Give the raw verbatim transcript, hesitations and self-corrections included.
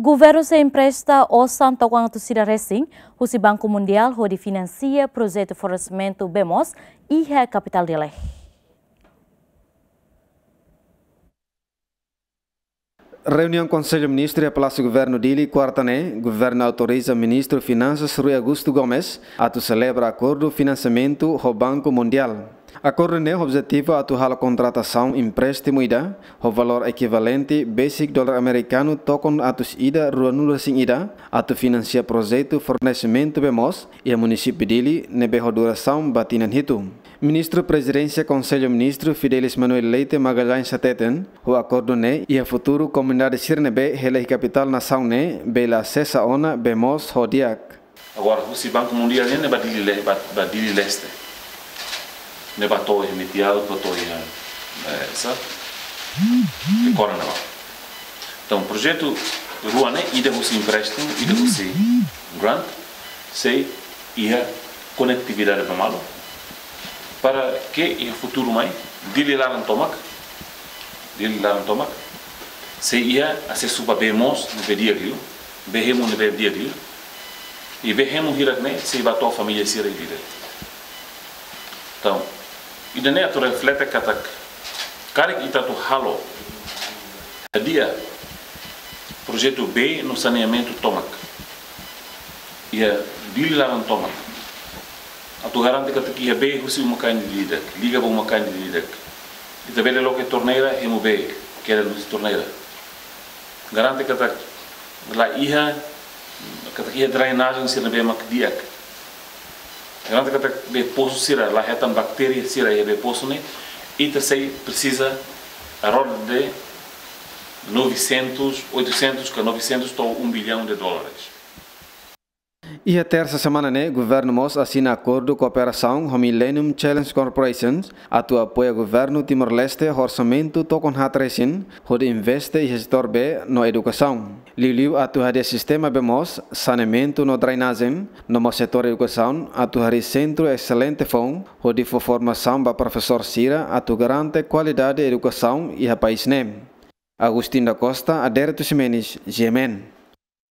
Governu sei empresta osan tokon atus ida resin husi Banku Mundiál hodi finansia projetu floresamentu bee moos iha kapitál Dili. Reuniaun Konsellu Ministru iha Palásiu Governu Dili, kuarta ne'e, governu autoriza Ministru Finansas Rui Augusto Gomes atu selebra akordu finansiamentu ho Banku Mundiál. Akordu ne'e objetivu atu halo kontratasaun empréstimu ida ho valór ekivalente besik dolar amerikanu tokon atus ida ruanulu resin ida atu finansia projetu fornesimentu bee moos iha munisípiu Dili ne'ebé ho durasaun ba tinan hitu. Ministru Prezidénsia Konsellu Ministru Fidelis Manuel Leite Magalhães hateten, ho akordu ne'e iha futuru komunidade sira ne'ebé hela iha kapitál nasaun ne'e bele asesa ona bee moos ho di'ak. Agora, husi Banku Mundiál ne'e, ne'e ba Dili le-, ba, ba Dili Leste. Ne'e ba to'o iha Metiaut, ba to'o iha, eh, sa? Iha Corona ba. Entaun, projetu rua ne'e, ida husi empréstimu, ida husi grant, sei iha konetividade ba malu. Para ke iha futuru mai, Dili laran tomak, Dili laran tomak, sei iha asesu ba bee moos ne'ebé di'ak liu, bee hemu ne'ebé di'ak liu, i bee hemu hirak ne'e sei ba to'o família sira ida-idak. Entaun, ida-ne'e atu reflete katak, karik ita atu halo, hadi'a projetu bee no saneamentu tomak iha Dili laran tomak, atu garante katak iha bee husi uma-kain ida-idak, liga ba uma-kain ida-idak. Ita bele loke torneira, hemu bee, kedan husi torneira. Garante katak la iha, katak iha drenajen sira ne'ebé mak di'ak. Garante katak bee posu sira la hetan baktéria sira iha bee posu ne'e, ita sei presiza à roda de novecentos, oitocentos ka novecentos to'o um bilhão de dólares. Iha tersa semana ne'e, governu mós asina akordu kooperasaun ho Millennium Challenge Corporation atu apoia governu Timor-Leste ho orsamentu tokon haat resin hodi investe iha setór bee no edukasaun. Liuliu atu hadi'a sistema bee moos, saneamentu no drenajen, no mós setór edukasaun atu harii sentru eselente foun hodi fó formasaun ba profesór sira atu garante kualidade edukasaun iha país ne'e. Agustin da Costa, Adérito Ximenes, G M N.